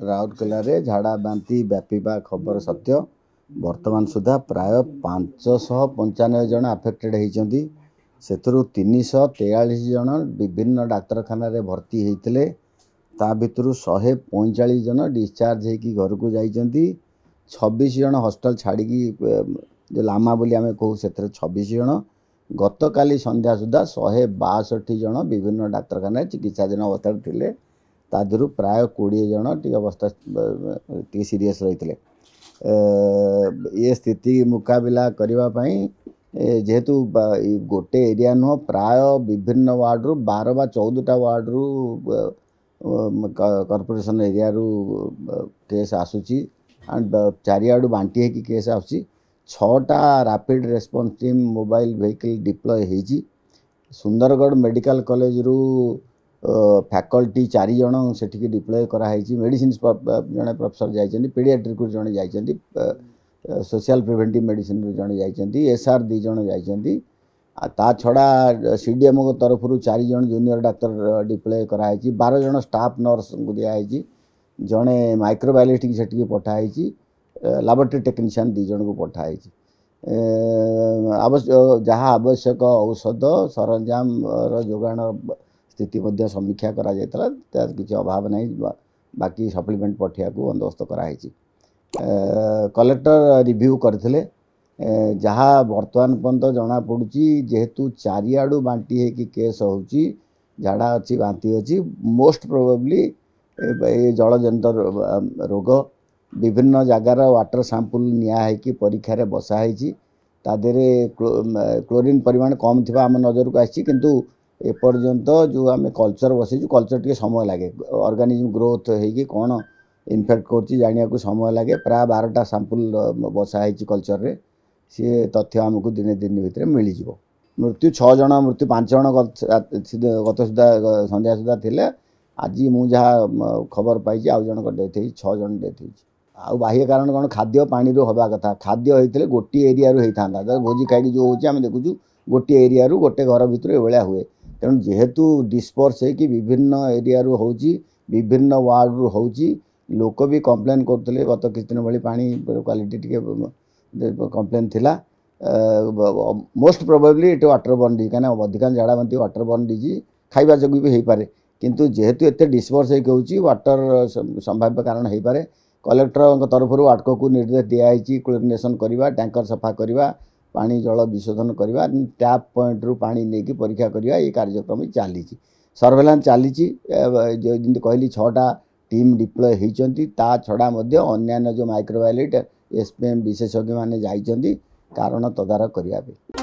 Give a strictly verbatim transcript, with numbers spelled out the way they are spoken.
ରାଉରକେଲାରେ ଝାଡ଼ା ବାନ୍ତି ବ୍ୟାପିବା ଖବର ସତ୍ୟ। ବର୍ତ୍ତମାନ ସୁଦ୍ଧା ପ୍ରାୟ ପାଞ୍ଚଶହ ପଞ୍ଚାନବେ ଜଣ ଆଫେକ୍ଟେଡ଼ ହେଇଛନ୍ତି। ସେଥିରୁ ତିନିଶହ ତେୟାଳିଶ ଜଣ ବିଭିନ୍ନ ଡାକ୍ତରଖାନାରେ ଭର୍ତ୍ତି ହେଇଥିଲେ। ତା ଭିତରୁ ଶହେ ପଇଁଚାଳିଶ ଜଣ ଡିସଚାର୍ଜ ହେଇକି ଘରକୁ ଯାଇଛନ୍ତି। ଛବିଶ ଜଣ ହଷ୍ଟେଲ ଛାଡ଼ିକି, ଯେଉଁ ଲାମା ବୋଲି ଆମେ କହୁ, ସେଥିରେ ଛବିଶ ଜଣ। ଗତକାଲି ସନ୍ଧ୍ୟା ସୁଦ୍ଧା ଶହେ ବାଷଠି ଜଣ ବିଭିନ୍ନ ଡାକ୍ତରଖାନାରେ ଚିକିତ୍ସାଧୀନ ଅବସ୍ଥାରେ ଥିଲେ। ତା ଦେହରୁ ପ୍ରାୟ କୋଡ଼ିଏ ଜଣ ଟିକେ ଅବସ୍ଥା ଟିକେ ସିରିୟସ୍ ରହିଥିଲେ। ଏ ସ୍ଥିତି ମୁକାବିଲା କରିବା ପାଇଁ, ଯେହେତୁ ଗୋଟେ ଏରିଆ ନୁହଁ, ପ୍ରାୟ ବିଭିନ୍ନ ୱାର୍ଡ଼ରୁ, ବାର ବା ଚଉଦଟା ୱାର୍ଡ଼ରୁ, କର୍ପୋରେସନ୍ ଏରିଆରୁ କେସ୍ ଆସୁଛି ଆଣ୍ଡ ଚାରିଆଡ଼ୁ ବାଣ୍ଟି ହେଇକି କେସ୍ ଆସୁଛି, ଛଅଟା rapid response team mobile vehicle deploy ହେଇଛି। ସୁନ୍ଦରଗଡ଼ ମେଡ଼ିକାଲ କଲେଜରୁ ଫ୍ୟାକଲ୍ଟି ଚାରି ଜଣ ସେଠିକି ଡିପ୍ଲୟ କରାହେଇଛି। ମେଡ଼ିସିନ ଜଣେ ପ୍ରଫେସର ଯାଇଛନ୍ତି, ପେଡ଼ିଆଟ୍ରିକରୁ ଜଣେ ଯାଇଛନ୍ତି, ସୋସିଆଲ ପ୍ରିଭେଣ୍ଟିଭ୍ ମେଡ଼ିସିନରୁ ଜଣେ ଯାଇଛନ୍ତି, ଏସ୍ ଆର୍ ଦୁଇ ଜଣ ଯାଇଛନ୍ତି। ଆଉ ତା ଛଡ଼ା ସି ଡି ଏମ୍ଓଙ୍କ ତରଫରୁ ଚାରି ଜଣ ଜୁନିୟର ଡାକ୍ତର ଡିପ୍ଲୟ କରାହେଇଛି। ବାର ଜଣ ଷ୍ଟାଫ୍ ନର୍ସଙ୍କୁ ଦିଆହେଇଛି। ଜଣେ ମାଇକ୍ରୋବାୟୋଲୋଜିଷ୍ଟ ସେଠିକି ପଠାହେଇଛି। ଲାବୋରେଟୋରୀ ଟେକ୍ନିସିଆନ୍ ଦୁଇ ଜଣଙ୍କୁ ପଠାହେଇଛି। ଆବଶ୍ୟକ ଯାହା ଆବଶ୍ୟକ ଔଷଧ ସରଞ୍ଜାମର ଯୋଗାଣ ସ୍ଥିତି ମଧ୍ୟ ସମୀକ୍ଷା କରାଯାଇଥିଲା। ତାର କିଛି ଅଭାବ ନାହିଁ। ବାକି ସପ୍ଲିମେଣ୍ଟ ପଠାଇବାକୁ ବନ୍ଦୋବସ୍ତ କରାହେଇଛି। କଲେକ୍ଟର ରିଭ୍ୟୁ କରିଥିଲେ। ଯାହା ବର୍ତ୍ତମାନ ପର୍ଯ୍ୟନ୍ତ ଜଣାପଡ଼ୁଛି, ଯେହେତୁ ଚାରିଆଡ଼ୁ ବାଣ୍ଟି ହେଇକି କେସ୍ ହେଉଛି, ଝାଡ଼ା ଅଛି, ବାନ୍ତି ଅଛି, ମୋଷ୍ଟ ପ୍ରୋବାବଲି ଏ ଜଳଜନିତ ରୋଗ। ବିଭିନ୍ନ ଜାଗାର ୱାଟର ସାମ୍ପୁଲ୍ ନିଆ ହେଇକି ପରୀକ୍ଷାରେ ବସା ହେଇଛି। ତା ଦେହରେ କ୍ଲୋରିନ୍ ପରିମାଣ କମ୍ ଥିବା ଆମ ନଜରକୁ ଆସିଛି। କିନ୍ତୁ ଏପର୍ଯ୍ୟନ୍ତ ଯେଉଁ ଆମେ କଲଚର୍ ବସେଇଛୁ, କଲଚର୍ ଟିକେ ସମୟ ଲାଗେ। ଅର୍ଗାନିଜମ୍ ଗ୍ରୋଥ୍ ହେଇକି କ'ଣ ଇନଫେକ୍ଟ କରୁଛି ଜାଣିବାକୁ ସମୟ ଲାଗେ। ପ୍ରାୟ ବାରଟା ସାମ୍ପୁଲ୍ ବସା ହେଇଛି କଲଚର୍ରେ। ସିଏ ତଥ୍ୟ ଆମକୁ ଦିନେ ଦିନ ଭିତରେ ମିଳିଯିବ। ମୃତ୍ୟୁ ଛଅ ଜଣ, ମୃତ୍ୟୁ ପାଞ୍ଚ ଜଣ ଗତ ସୁଦ୍ଧା ସନ୍ଧ୍ୟା ସୁଦ୍ଧା ଥିଲେ। ଆଜି ମୁଁ ଯାହା ଖବର ପାଇଛି, ଆଉ ଜଣଙ୍କ ଡେଥ୍ ହେଇଛି, ଛଅ ଜଣ ଡେଥ୍ ହେଇଛି। ଆଉ ବାହ୍ୟ କାରଣ କ'ଣ? ଖାଦ୍ୟ ପାଣିରୁ ହେବା କଥା। ଖାଦ୍ୟ ହେଇଥିଲେ ଗୋଟିଏ ଏରିଆରୁ ହେଇଥାନ୍ତା। ଭୋଜି ଖାଇକି ଯେଉଁ ହେଉଛି ଆମେ ଦେଖୁଛୁ, ଗୋଟିଏ ଏରିଆରୁ, ଗୋଟେ ଘର ଭିତରୁ ଏଭଳିଆ ହୁଏ। ତେଣୁ ଯେହେତୁ ଡିସ୍ପର୍ସ ହେଇକି ବିଭିନ୍ନ ଏରିଆରୁ ହେଉଛି, ବିଭିନ୍ନ ୱାର୍ଡ଼ରୁ ହେଉଛି, ଲୋକ ବି କମ୍ପ୍ଲେନ୍ କରୁଥିଲେ, ଗତ କିଛି ଦିନ ଭଳି ପାଣି କ୍ୱାଲିଟି ଟିକେ କମ୍ପ୍ଲେନ୍ ଥିଲା, ମୋଷ୍ଟ ପ୍ରୋବାବଲି ଏଠି ୱାଟର ବର୍ନ ଡିଜିଜ୍। କାହିଁକିନା ଅଧିକାଂଶ ଝାଡ଼ା ବାନ୍ତି ୱାଟର ବର୍ନ ଡିଜିଜ୍, ଖାଇବା ଯୋଗୁଁ ବି ହେଇପାରେ। କିନ୍ତୁ ଯେହେତୁ ଏତେ ଡିସ୍ପର୍ସ ହେଇକି ହେଉଛି, ୱାଟର ସମ୍ଭାବ୍ୟ କାରଣ ହେଇପାରେ। କଲେକ୍ଟରଙ୍କ ତରଫରୁ ୱାଟକୋକୁ ନିର୍ଦ୍ଦେଶ ଦିଆହେଇଛି କ୍ଲୋରିନେସନ୍ କରିବା, ଟ୍ୟାଙ୍କର ସଫା କରିବା, ପାଣି ଜଳ ବିଶୋଧନ କରିବା, ଟ୍ୟାପ୍ ପଏଣ୍ଟରୁ ପାଣି ନେଇକି ପରୀକ୍ଷା କରିବା। ଏ କାର୍ଯ୍ୟକ୍ରମ ଚାଲିଛି, ସର୍ଭେଲାନ୍ସ ଚାଲିଛି। ଯେମିତି କହିଲି, ଛଅଟା ଟିମ୍ ଡିପ୍ଲୟ ହେଇଛନ୍ତି। ତା ଛଡ଼ା ମଧ୍ୟ ଅନ୍ୟାନ୍ୟ ଯେଉଁ ମାଇକ୍ରୋବାୟୋଲୋଜି, ଏସ୍ ପି ଏମ୍ ବିଶେଷଜ୍ଞମାନେ ଯାଇଛନ୍ତି କାରଣ ତଦାରଖ କରିବା ପାଇଁ।